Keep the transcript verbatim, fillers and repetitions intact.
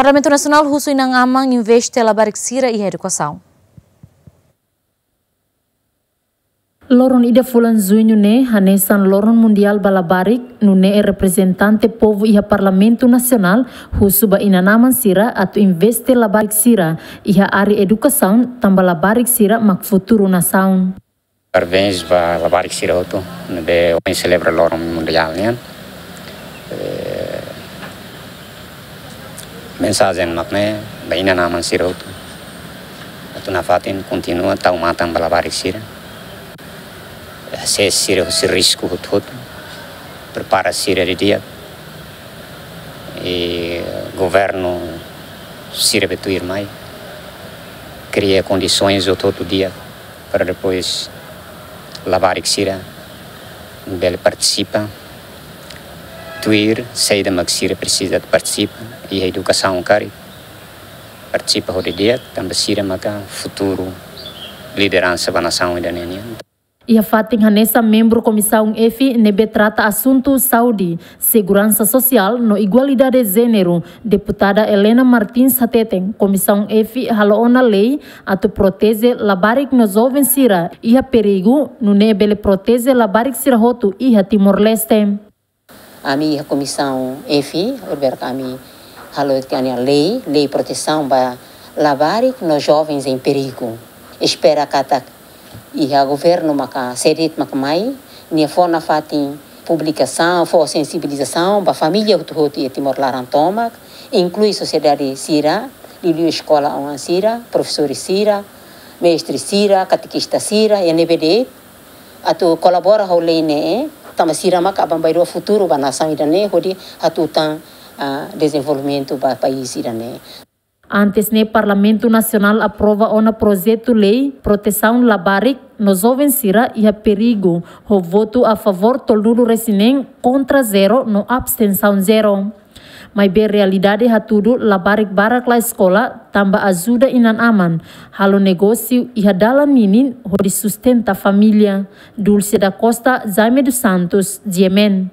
Parlamentu Nasionál husu inan-aman investe labarik sira iha edukasaun. Loron ida fulan Juñu ne'e hanesan Loron Mundiál ba Labarik, nune'e reprezentante povu iha Parlamentu Nasionál husu ba inan-aman sira atu investe labarik sira iha área edukasaun, tanba labarik sira mak futuru nasaun. Parabéns ba labarik sira hotu ne'ebé ohin selebra Loron Mundiál nian. Eh, mensajen mak ne'e ba inan-aman sira hotu. Atu nafatin kontinua tau matan ba labarik sira. Hasees sira husi risku hotu-hotu. Prepara sira didi'ak. I governu sira be tuirmai kria kondisoens hotu-hotu di'ak para depois labarik sira bele partisipa tuir saida mak sira presiza partisipa iha edukasaun karik. Partisipa ho didi'ak, tanba sira maka futuru lideransa ba nasaun ida-ne'e nian. Iha fatin hanesan membru Komisaun F ne'ebé trata asuntu saúde, seguransa sosiál no igualdade jéneru, Deputada Helena Martins hateten, Komisaun F halo ona lei atu proteje labarik no joven sira iha perigu, nune'e bele proteje labarik sira hotu iha Timor-Leste. Ami iha Komisaun F, horibainrua ami halo tiha ona lei, lei protesaun ba labarik no jovens em perigo. Espera katak iha governu maka sé de'it maka mai, nia fó nafatin publikasaun, fó sensibilizasaun ba família hotu-hotu iha Timor laran tomak, inklui sosiedade sira, liuliu eskola oan sira, profesór sira, mestre sira, katekista sira, iha ne'ebé de'it, atu kolabora ho lei ne'e, tanba sira maka aban-bainrua futuru ba nasaun ida-ne'e, hodi hatutan, ah, dezenvolvimentu ba país ida-ne'e. Antes ne'e Parlamentu Nasionál aprova ona projetu lei protesaun labarik no joven sira iha perigu, ho votu a favór tolunulu-resin-neen, kontra zero no abstensaun zero. Maibé realidade hatudu labarik barak la eskola, tanba ajuda inan-aman, halo negósiu iha dalan ninin hodi sustenta família. Dulce da Costa, Jaime dos Santos, G M N.